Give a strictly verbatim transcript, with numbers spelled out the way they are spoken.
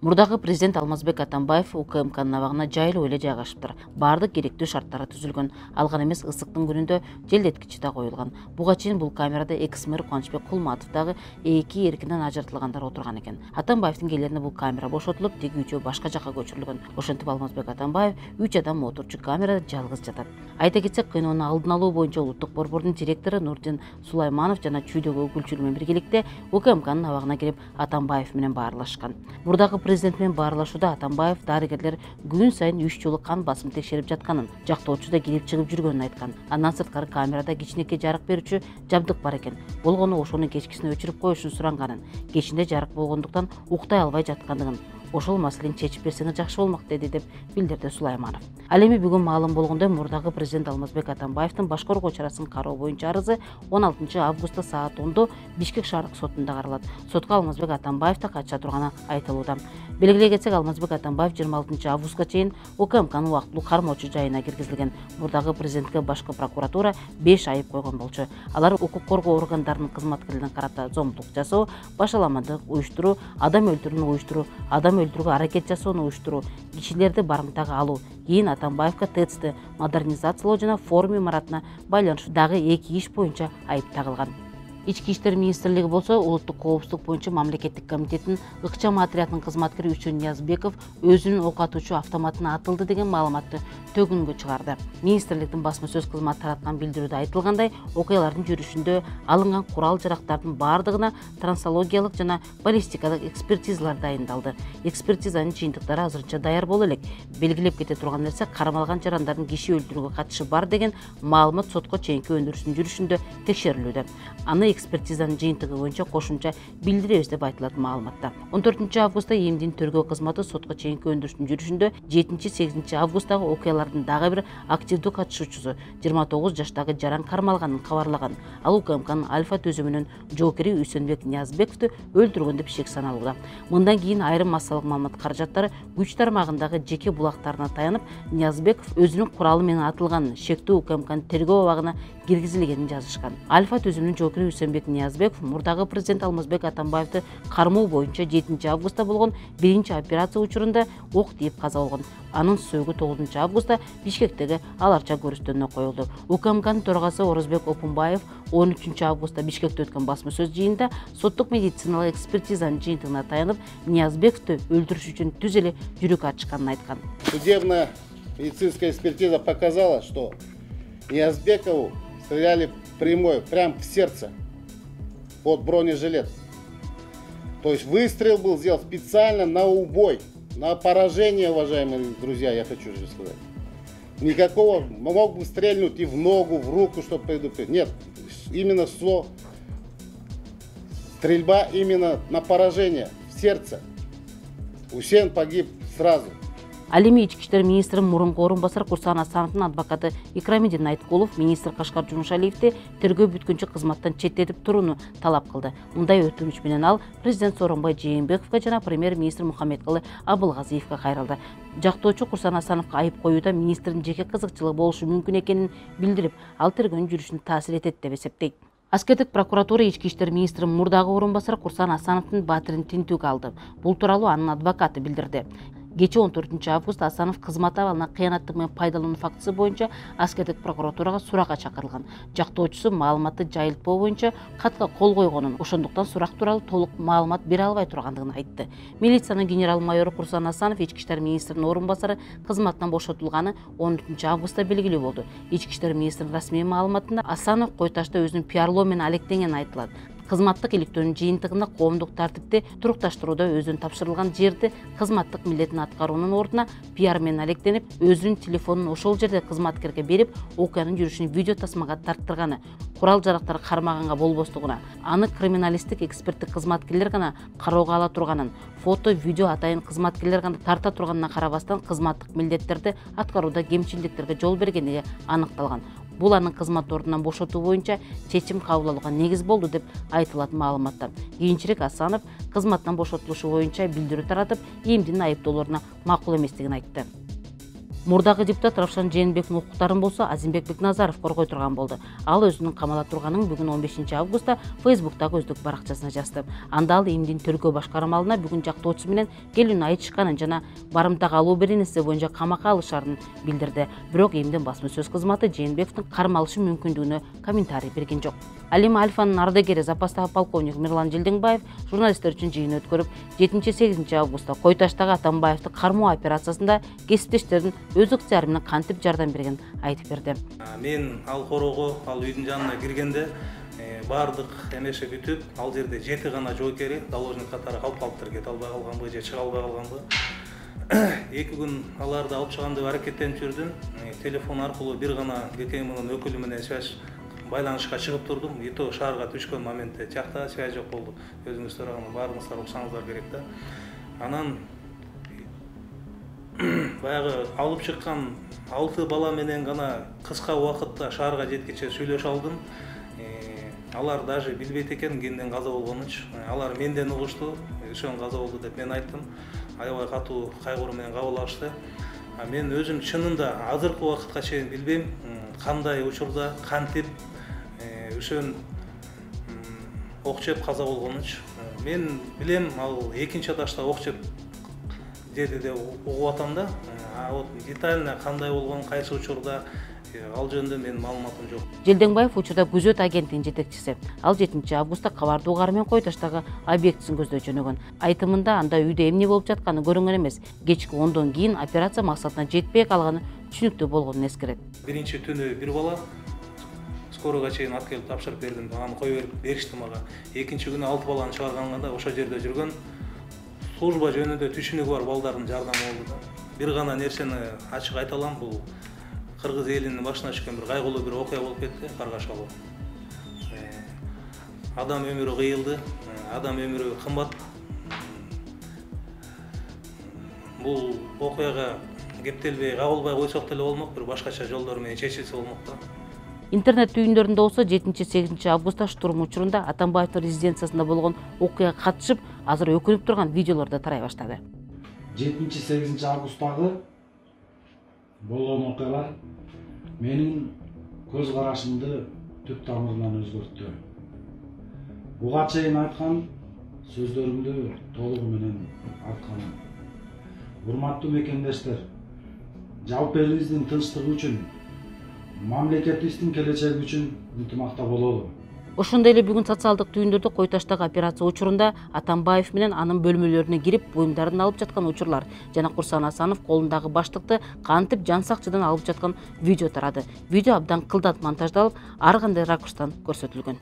Мурдагы президент Алмазбек Атамбаев УКМКнын абагына жайлуу эле жайгашыптыр. Бардык керектүү шарттары түзүлгөн. Ал гана эмес, ысыктын күнүндө желдеткичи да коюлган. Буга чейин бул камерада экс-мэр Кубанычбек Кулматов дагы эки эркинен ажыртылгандар отурган экен. Атамбаевдин келерине бул камера бошотулуп, теги үчөө башка жакка көчүрүлгөн. Ошентип Алмазбек Атамбаев үч адам отурчу камерада жалгыз жатат. Айта кетсек, кыйноону алдын алуу боюнча улуттук борбордун директору Нурдин Сулайманов жана чүйдөгү өкүлчүлөр менен биргеликте УКМКнын абагына кирип Атамбаев менен баарлашкан. Мурдагы президент менен баарлашууда Атамбаев дарыгерлер күн сайын үч жолу кан басымын текшерип жатканын, жактоочу да кирип чыгып жүргөнүн айткан. Андан сырткары камерада кичинекей жарык берүүчү жабдык бар экен. Болгону ошону кечкисине өчүрүп коюшун суранганын, кечинде жарык болгондуктан уктай албай жаткандыгын, ошол маселени чечип берсеңиз жакшы болмок деди деп билдирди Сулайманов. Ал эми бүгүн маалым болгондой, мурдагы президент Алмазбек Атамбаевдин башкы коргоо чарасын кароо боюнча арызы он алтынчы августта саат ондо Бишкек шаардык сотунда каралат. Сотко Алмазбек Атамбаев да катыша турганы айтылууда. Белгилей кетсек, Алмазбек Атамбаев жыйырма алтынчы августка чейин УКМКнын убактылуу кармоочу жайына киргизилген. Мурдагы президентке башкы прокуратура беш айып койгон болчу. Алар укук коргоо органдарынын кызматкерлерине карата зомбулук жасоо, башаламандык уюштуруу, адам өлтүрүүнү уюштуруу, адам өлтүрүүгө аракет жасоону уюштуруу, кишилерди барымтага алуу. Кийин Атамбаевка ТЭЦти модернизациялоо жана форум имаратына байланыштуу дагы эки иш боюнча айып тагылган. Ички иштер министрлиги болсо улуттук коопсуздук боюнча мамлекеттик комитеттин ыкчам отрядынын кызматкери Үчөн Ниязбеков өзүнүн ок атуучу автоматына атылды деген маалыматты төгүнгө чыгарды. Министрликтин басма сөз кызматы тараткан билдирүүдө айтылгандай, окуялардын жүрүшүндө алынган курал-жарактардын бардыгына транссологиялык жана баллистикалык экспертизалар дайындалды. Экспертизанын жыйынтыктары азырынча даяр боло элек. Белгилеп кете турган нерсе, кармалган жарандардын киши өлтүрүүгө катышы бар деген маалымат сотко чейинки өндүрүштүн жүрүшүндө текшерилүүдө. Аны экспертизанын жыйынтыгы боюнча кошумча билдиребиз деп айтылат маалыматта. он төртүнчү августта ИИМдин тергөө кызматы сотко чейинки өндүрүштүн жүрүшүндө жетинчи сегизинчи августтагы окуялардын дагы бир активдүү катышуучусу жыйырма тогуз жаштагы жаран кармалганын кабарлаган. Ал УКМКнын Альфа түзүмүнүн жоокери Үсөнбек Ниязбековду өлтүргөн деп шек саналууда. Мындан кийин айрым массалык маалымат каражаттары күч тармагындагы жеке булактарына таянып, Ниязбеков өзүнүн куралы менен атылганын, шектүү УКМКнын тергөө абагына киргизилгенин жазышкан. Альфа түзүмүнүн жоокери Үсөнбек Ниязбеков мурдагы президент Алмазбек Атамбаевди кармоо боюнча жетинчи августта болгон биринчи операция учурунда ок тийип каза болгон. Анын сөөгү тогузунчу августта Бишкектеги аларча көрүстөнүнө коюлду. УКМКнын төрагасы Орозбек Опунбаев он үчүнчү августта Бишкекте өткөн басма сөз жыйынында соттук медициналык экспертизанын жыйынтыгына таянып, Ниязбековду өлтүрүш үчүн түз эле жүрөк ачышканын айткан. Судебная медицинская экспертиза показала, что Ниязбекову стреляли прямой, прямо в сердце, под бронежилет. То есть выстрел был сделан специально на убой, на поражение, уважаемые друзья, я хочу же сказать. Никакого, мог бы стрельнуть и в ногу, в руку, чтобы предупредить. Нет, именно со стрельба именно на поражение, в сердце. Усен погиб сразу. Ал эми ички иштер министринин мурунку орун басары Курсан Асановдун адвокаты Икрамидин Айткулов министр Кашкар Жумушалиевди тергөө бүткүнчө кызматтан четтетип турууну талап кылды. Мындай өтүнүч менен ал президент Сооронбай Жээнбековго жана премьер-министр Мухаммедкалы Абылгазиевге кайрылды. Жактоочу Курсан Асановго айып коюуда министрдин жеке кызыкчылыгы болушу мүмкүн экенин билдирип, ал тергөөнүн жүрүшүнө таасир этет деп эсептейт. Аскердик прокуратура ички иштер министринин мурдагы орун басары Курсан Асановдун батирин тинтүүгө алды. Бул тууралуу анын адвокаты билдирди. Кечээ он төртүнчү август Асанов кызмат абалына кыянаттык менен пайдалануу фактысы боюнча Аскердик прокуратурага суракка чакырылган. Жактоочусу маалыматты жайылтпоо боюнча катка кол койгонун, ошондуктан сурак тууралуу толук маалымат бере албай тургандыгын айтты. Милициянын генерал-майору Курсан Асанов ички иштер министринин орун басары кызматтан бошотулганы он үчүнчү августта белгилүү болду. Ички иштер министринин расмий маалыматында Асанов Койташта өзүнүн пиарлоо менен алектенгени айтылат. Кызматтык иликтөөнүн жыйынтыгында коомдук тартипти турукташтырууда өзүнүн тапшырылган жерди кызматтык милдетин аткаруунун ордуна пиар менен алектенип, өзүнүн телефонун ошол жерде кызматкерге берип, окуянын жүрүшүн видео тасмага тарттырганы, курал-жарактар кармаганга болбостугуна, аны криминалисттик эксперттик кызматкерлер гана кароого ала турганын, фото, видео атайын кызматкерлер гана тарта турганына карабастан кызматтык милдеттерди аткарууда кемчилдиктерге жол бергендиги аныкталган. Бул анын кызмат ордунан бошотуу боюнча чечим кабыл алууга негиз болду деп айтылат маалыматта. Кийинчерээк Асанов кызматтан бошотулушу боюнча билдирүү таратып, ИИМдин айыптоолоруна макул эместигин айтты. Мурдагы депутат Равшан Жээнбектин укуктарын болсо Азимбек Бекназаров коргой турган болду. Ал өзүнүн камала турганын бүгүн он бешинчи августта Фейсбуктагы өздүк баракчасына жазды. Анда ал эмдин тергөө башкармалына бүгүн жактоочусу менен келүүнү айтышканын жана барымтага алуу беренеси боюнча камакка алышарын билдирди. Бирок эмдин басма сөз кызматы Жээнбековдун кармалышы мүмкүндүгүнө комментарий берген жок. Ал эми Альфанын ардагери запастагы полковник Мирлан Жылдыңбаев журналисттер үчүн жыйын өткөрүп, жетинчи сегизинчи августта Кой Таштагы Атамбаевди кармоо операциясында кесиптештердин өз ыктыяры менен кантип жардам берген айтып берди. Мен ал корого, ал үйдүн жанына киргенде баардык эмеше бүтүп, ал жерде жети гана жоокери заложник катары калып калыптыр, кете албай калганбы же чыга албай калганбы. эки күн аларды алып чыгам деп аракеттенип жүрдүм. Телефон аркылуу бир гана ГКМнын өкүлү менен связь байланышка чыгып турдум. И то шаарга түшкөн моментте жакта связь жок болду. Өзүңүз сураган баарыңыздар уксаңыздар керек да. Анан баягы алып чыккан алты бала менен гана кыска убакытта шаарга жеткиче сүйлөшө алдым. Алар даже билбейт экен кимден каза болгонунчу. Алар менден угушту, ошон каза болду деп мен айттым. Аябай катуу кайгыруу менен кабыл алышты. Мен өзүм чынында азыркы убакытка чейин билбейм кандай учурда кантип ошон ок жеп каза болгонунчу. Мен билем ал экинчи ташта ок жеп деди деп угуп атам да. А вот детально кандай болгон, кайсы учурда ал жөнүндө менин маалыматым жок. Жылдыңбаев учурда күзөт агенттигинин жетекчиси. Ал жетинчи августта кабарды угары менен Кой Таштагы объектисин көздөй жөнөгөн. Айтымында анда үйдө эмне болуп жатканы көрүнгөн эмес. Кечки ондон кийин операция максатына жетпей калганы түшүнүктүү болгонун эскерет. Биринчи түнү бир бала скоройго чейин алып келип тапшырып бердим. Аны коюп берип беришти мага. Экинчи күнү алты баланы чыгарганда ошол жерде жүргөн служба жөнүндө түшүнүгү бар балдардын жардамы болду да. Бир гана нерсени ачык айта алам, бул кыргыз элинин башына түшкөн бир кайгылуу бир окуя болуп кетти, Каргашалы. Адам өмүрү кыйылды, адам өмүрү кымбат. Бул окуяга кептелбей, кабылбай койсок деле болмок, бир башкача жолдор менен чечилсе болмок да. Интернет түйүндөрүндө болсо жетинчи сегизинчи августта штурм учурунда Атамбаевдин резиденциясында болгон окуяга катышып, азыр өкүнүп турган видеолор да тарай баштады. жетинчи сегизинчи августтагы болгон окуялар менин көз карашымды түп тамырынан өзгөрттү. Буга чейин айткан сөздөрүмдү толугу менен атканым. Урматтуу мекендештер, жалпы элибиздин тынчтыгы үчүн, мамлекетибиздин келечеги үчүн ынтымакта бололу. Ошондой эле бүгүн социалдык түйүндөрдө Кой Таштагы операция учурунда Атамбаев менен анын бөлмөлөрүнө кирип буюмдарын алып жаткан учурлар жана Курсан Асанов колундагы баштыкты кантип жан сакчыдан алып жаткан видео тарады. Видео абдан кылдат монтаждалып, ар кандай ракурстан көрсөтүлгөн.